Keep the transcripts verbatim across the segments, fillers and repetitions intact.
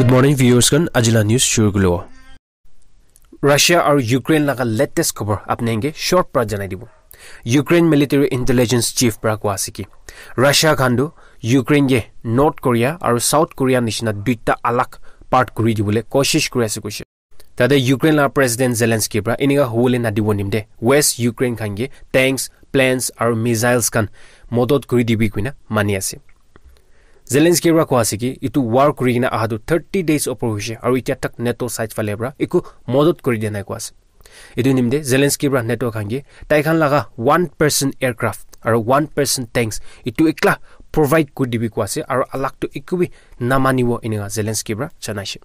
Good morning, viewers khan. Ajila news shuru kulo. Russia aru Ukraine laga latest khobor apni ke short pra janai dibo. Ukraine military intelligence chief pra koa ase ki Russia khan tu Ukraine ke North Korea aru South Korea nishina duita alag part kuri dibole koshish kuri ase koise. Tate Ukraine la President Zelensky pra inika hubole nadibo nimde West Ukraine khan ke tanks, planes aru missiles khan modot kuri dibi kuina mani ase. Zelensky pra koa ase ki itu war kuri kina aha tu thirty days opor hoise aru itya tak NATO side phale pra iku modot kuri dia nai koa ase. Itu nimde Zelensky pra NATO khan ke tai khan laga one percent aircraft aru one percent tanks itu ekla provide kuri dibi koa ase aru alag tu iku bi namanibo inika Zelensky pra janaise.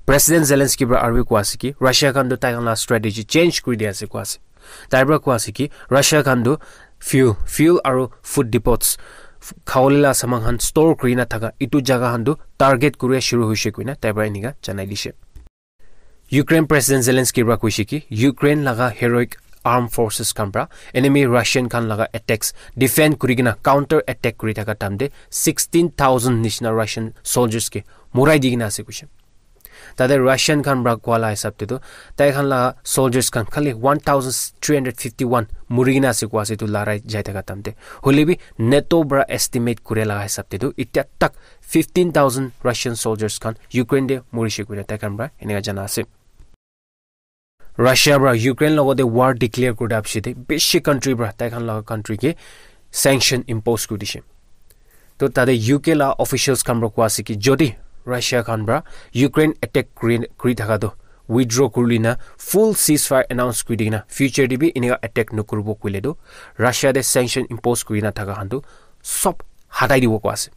President Zelensky pra aru koa ase ki Russia khan tu tai khan la strategy change kuri dia ase koa ase. Tai pra koa ase ki Russia khan tu fuel, fuel aru food depots, f- khawole la saman khan store kuri na thaka itu jaga khan tu target kuri shuru hoise kuina tai pra inika janai dise. Ukraine President Zelensky pra koise ki Ukraine laga heroic armed forces khan pra enemy Russian khan laga attacks defend kuri kina counter attack kuri thaka time te sixteen thousand nishina Russian soldiers ke murai di kina ase koise. Tate Russian khan pra koa la hisab te tu tai khan la soldiers khan khali one thousand three hundred fifty-one muri kina ase koa ase tu larai jai thaka time te. Hole bi NATO pra estimate kure laga hisab te tu itya tak fifteen thousand Russian soldiers khan Ukraine te murise kuina tai khan pra eneka jana ase. Russia pra Ukraine logote war declare kuri dia piche te bishi country pra tai khan laga country ke sanction impose kuri dise. To tate U K la officials khan pra koa ase ki jodi Russia khan pra Ukraine attack kuri, kuri thaka to withdraw kuri lina full ceasefire announce kuri dikina future te bi eneka attack nokuribo koile to Russia te sanction impose kuri na thaka khan to sob hatai dibo koa ase.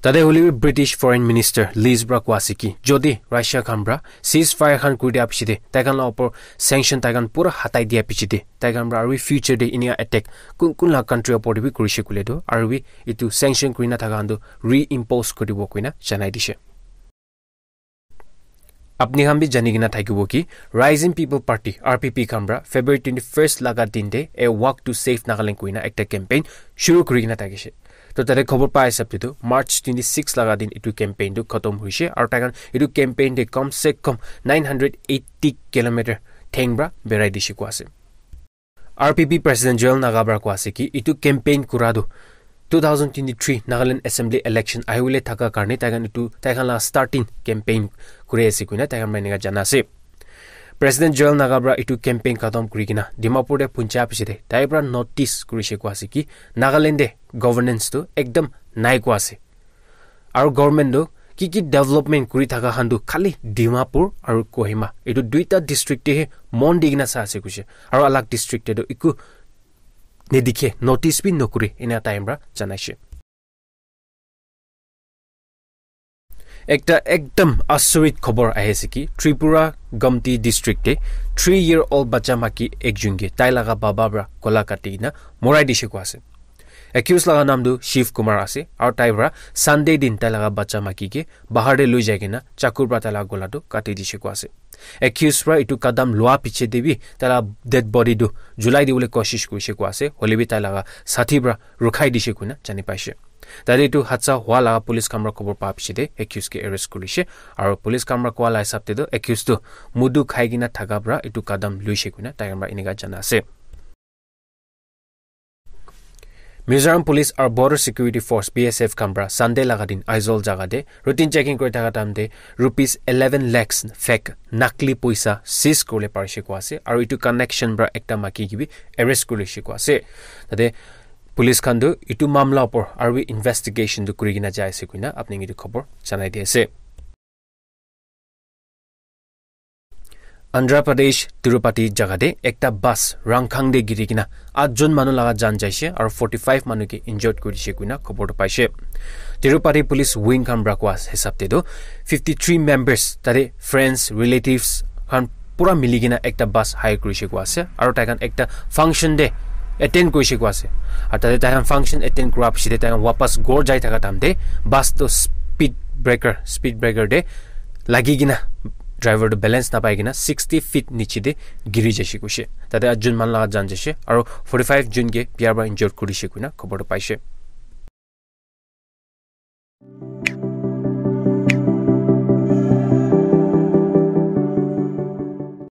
Tate hole bi British Foreign Minister Liz pra koa ase ki jodi Russia khan pra ceasefire khan kuri dia piche te tai khan la opor sanction tai khan pura hatai dia piche te tai khan pra aru future te eneka attack kun kun la country opor te bi kurise koile to aru bi itu sanction kuri na thaka khan to reimpose kuri dibo kuina janai dise. Apni khan bi jani kena thakibo ki Rising People Party, R P P, khan pra February twenty-first laga din te A Walk to Save Nagaland koina ekta campaign shuru kuri kena thakishe. To tate khobor pa hisab te tu March twenty-six laga din itu campaign tu khatam hoishe aru tai khan itu campaign te kam se kam nine hundred eighty kilometer theng pra berai dishe koa ase. R P P President Joel Naga pra koa ase ki itu campaign kura tu two thousand twenty-three Nagaland Assembly election ahibole thaka karne tai khan itu tai khan la starting campaign kuri ase koina tai khan pra eneka jana ase. President Joel Naga pra itu campaign khatam kuri kena Dimapur te puncha piche te tai pra notice kurishe koa ase ki Nagaland te governance tu ekdam nai koa ase. Aru government tu ki ki development kuri thaka khan tu khali Dimapur aru Kohima itu duita district te he mon di kena sa ase koishe. Aru alag district te tu iku nedikhe notice bi nokuri ena time pra janaishe. Ekta ekdam asurit khobor ahi ase ki Tripura Gomti district te three year old bacha maki ekjun ke tai laga baba pra gola kati kena morai dishe koa ase. Accused laga naam tu Shiv Kumar ase aru tai pra Sunday din tai laga bacha maki ke bahar te lui jai kena chakur pra tai laga gola tu kati dishe koa ase. Accused pra itu kadam lua piche te bi tai laga dead body tu julai dibole koshish kurishe koa ase, hole bi tai laga sathi pra rukhai dishe koina jani paishe. Tate itu hadsa hua laga police khan pra khobor pa piche te accused ke arrest kurishe aru police khan pra koa la hisab te tu accused tu mudu khai kena thaka pra itu kadam luishe koina tai khan pra eneka jana ase. Mizoram Police aru Border Security Force, B S F, khan pra Sunday laga din Aizawl jaga te routine checking kuri thaka time te rupees eleven lakhs fake nakli poisa seize kuribole parishe koa ase aru itu connection pra ekta maki ke bi arrest kurishe koa ase. Tate police khan tu itu mamla opor aru bi investigation tu kuri kena jai ase koina apni ke itu khobor janai di ase. Andhra Pradesh, Tirupati jaga te ekta bus rangkhang te giri kena atjon manu laga jan jaishe aru forty-five manu ke injured kuri dishe koina khobor tu paishe. Tirupati Police Wing khan pra koa hisab te tu fifty-three members tate friends, relatives khan pura mili kena ekta bus hire kurishe koa ase aru tai khan ekta function te attend kurishe koa ase. Aru tate tai khan function attend kura piche te tai khan wapas ghor jai thaka time te bus tu speed breaker, speed breaker te lagi kena driver tu balance napai kena sixty feet niche te giri jaishe koishe. Tate atjon manu laga jan jaishe aru forty-five jun ke bia pra injured kurishe koina khobor tu paishe.